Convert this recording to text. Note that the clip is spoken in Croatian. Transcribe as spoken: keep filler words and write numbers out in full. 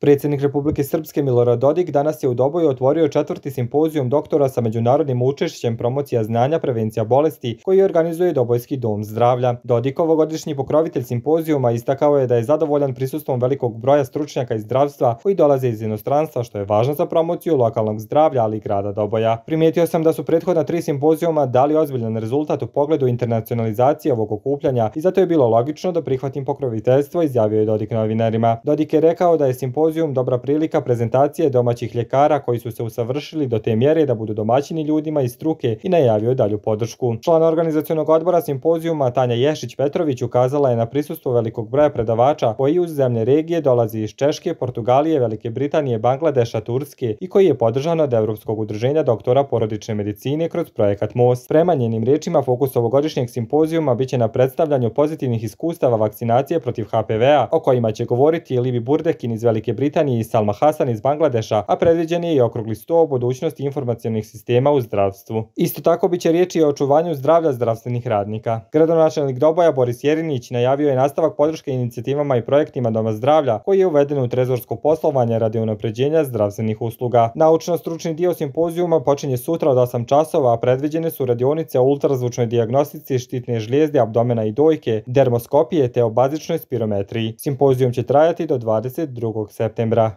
Predsjednik Republike Srpske Milorad Dodik danas je u Doboju otvorio četvrti simpozijum doktora sa međunarodnim učešćem promocija znanja, prevencija bolesti koji organizuje Dobojski dom zdravlja. Dodik, ovogodišnji pokrovitelj simpozijuma, istakao je da je zadovoljan prisustvom velikog broja stručnjaka iz zdravstva koji dolaze iz inostranstva, što je važno za promociju lokalnog zdravlja, ali i grada Doboja. Primijetio sam da su prethodna tri simpozijuma dali ozbiljan rezultat u pogledu internacionalizacije ovog okupljanja i zato je bilo logično da prihvatim pokroviteljstvo, izjavio je Dodik novinarima. Dodik je rekao da je simpozijum dobra prilika prezentacije domaćih ljekara koji su se usavršili do te mjere da budu domaćini ljudima iz struke i najavio dalju podršku. Član organizacionog odbora simpozijuma Tanja Ješić-Petrović ukazala je na prisustvo velikog broja predavača koji uz zemlje regije dolazi iz Češke, Portugalije, Velike Britanije, Bangladeša, Turske i koji je podržan od Evropskog udruženja doktora porodične medicine kroz projekat most. Prema njenim rečima, fokus ovogodišnjeg simpozijuma biće na predstavljanju pozitivnih iskustava vakcinacije protiv H P V-a, o kojima će govoriti Livi Burdekin iz Velike Britanije i Salma Hasan iz Bangladeša, a predviđen je i okrugli sto o budućnosti informacionih sistema u zdravstvu. Isto tako biće riječi o očuvanju zdravlja zdravstvenih radnika. Gradonačelnik Doboja Boris Jerinić najavio je nastavak podrške inicijativama i projektima Doma zdravlja koji je uveden u trezorsko poslovanje radi unapređenja zdravstvenih usluga. Naučno-stručni dio simpozijuma počinje sutra od osam časova, a predviđene su radionice o ultrazvučnoj dijagnostici štitne žlijezde, abdomena i dojke, dermoskopije te o bazičnoj spirometriji. Simpozijum će trajati do dvadeset drugog septembra.